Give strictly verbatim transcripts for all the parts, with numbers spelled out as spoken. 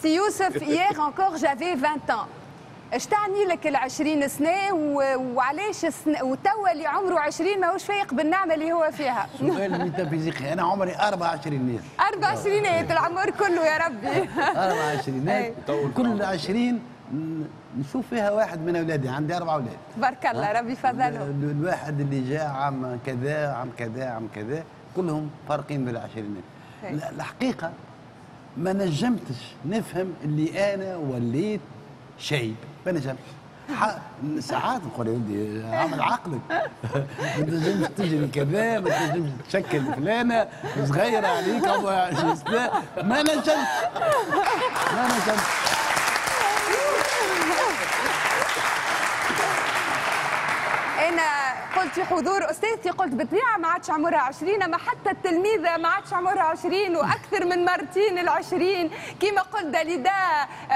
سي يوسف، hier encore j'avais vingt ans. اش تعني لك ال عشرين سنة وعلاش السنة وتوا اللي عمره عشرين ماهوش فايق بالنعمة اللي هو فيها؟ سؤال ميتافيزيقي. انا عمري أربعة وعشرين. أربعة وعشرين العمر كله يا ربي. أربعة وعشرين، كل عشرين نشوف فيها واحد من اولادي، عندي اربع اولاد. تبارك الله، ربي فضلهم. الواحد اللي جاء عام كذا عام كذا عام كذا، كلهم فارقين بالعشرينات. الحقيقة ما نجمتش نفهم اللي انا وليت شايب، ما نجمتش. ساعات نقول يا ولدي عمل عقلك، ما تنجمش تجري كذا، ما تنجمش تشكل فلانه صغيرة عليك عشرين سنة، ما نجمتش ما نجمتش. أنا قلت في حضور أستاذتي، قلت بالطبيعة ما عادش عمرها عشرين، أما حتى التلميذة ما عادش عمرها عشرين وأكثر من مرتين العشرين. كما قلت داليدا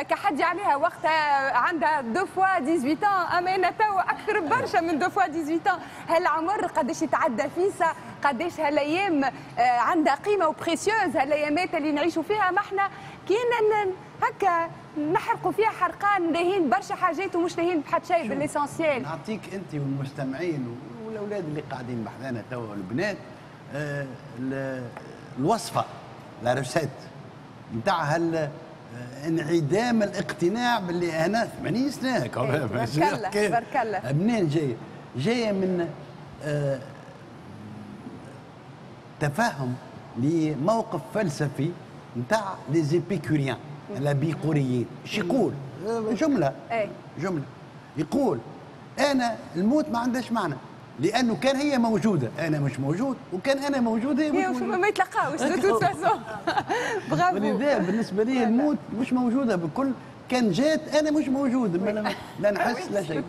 كحد عليها وقتها عندها deux fois dix-huit ans، أما أنا توا أكثر برشا من deux fois dix-huit ans. هالعمر قداش يتعدى فيسا، قداش هالأيام عندها قيمة و précieuses، هالأيامات اللي نعيشوا فيها. ما احنا كينا هكا نحرقوا فيها حرقان، لاهين برشا حاجات ومش لاهين بحد شيء بال essentiel. نعطيك انت والمستمعين والاولاد اللي قاعدين بحذانا توا والبنات آه الوصفة، la recette نتاع هال انعدام الاقتناع باللي انا ثمانين سنة. تبارك الله تبارك الله. منين جاية؟ جاية من آه تفهم لموقف فلسفي نتاع les épicuriens، الابيقوريين. ايش يقول؟ جملة جملة يقول انا الموت ما عندهاش معنى، لانه كان هي موجودة انا مش موجود، وكان انا موجود هي مش موجودة، ما يتلقاوش de toute façon. bravo. ولذا بالنسبة لي الموت مش موجودة بكل، كان جات انا مش موجود، لا نحس لا شيء.